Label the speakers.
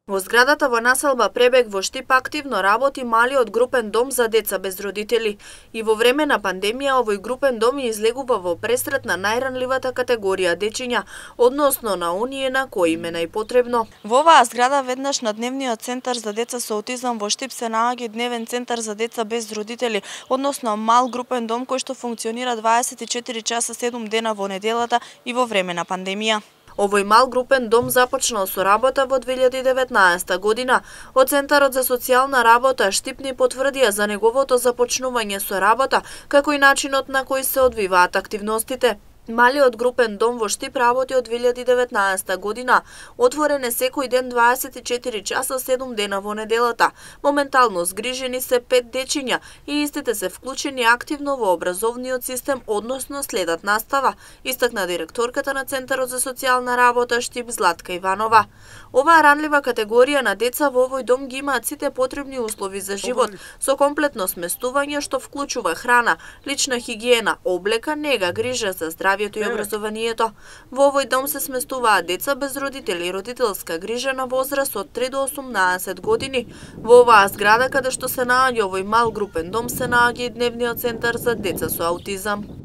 Speaker 1: Во зградата во населба Пребег во Штип активно работи малиот групен дом за деца без родители. И во време на пандемија овој групен дом излегува во пресрет на најранливата категорија дечиња, односно на оние на кои им е најпотребно.
Speaker 2: Во оваа зграда веднаш на дневниот центар за деца со аутизам во Штип се наоѓа дневен центар за деца без родители, односно мал групен дом кој што функционира 24 часа 7 дена во неделата и во време на пандемија.
Speaker 1: Овој мал групен дом започнал со работа во 2019 година. Од Центарот за социјална работа Штип ни потврдија за неговото започнување со работа, како и начинот на кој се одвиваат активностите. Малиот групен дом во Штип работи од 2019 година. Отворен е секој ден 24 часа 7 дена во неделата. Моментално згрижени се 5 дечиња и истите се вклучени активно во образовниот систем, односно следат настава, истакна директорката на Центарот за социјална работа Штип Златка Иванова. Оваа ранлива категорија на деца во овој дом ги имаат сите потребни услови за живот, со комплетно сместување што вклучува храна, лична хигиена, облека, нега, грижа за здравјето и образованието. Во овој дом се сместуваат деца без родители и родителска грижа на возраст од 3 до 18 години. Во оваа зграда каде што се наоѓа овој мал групен дом се наоѓа и дневниот центар за деца со аутизам.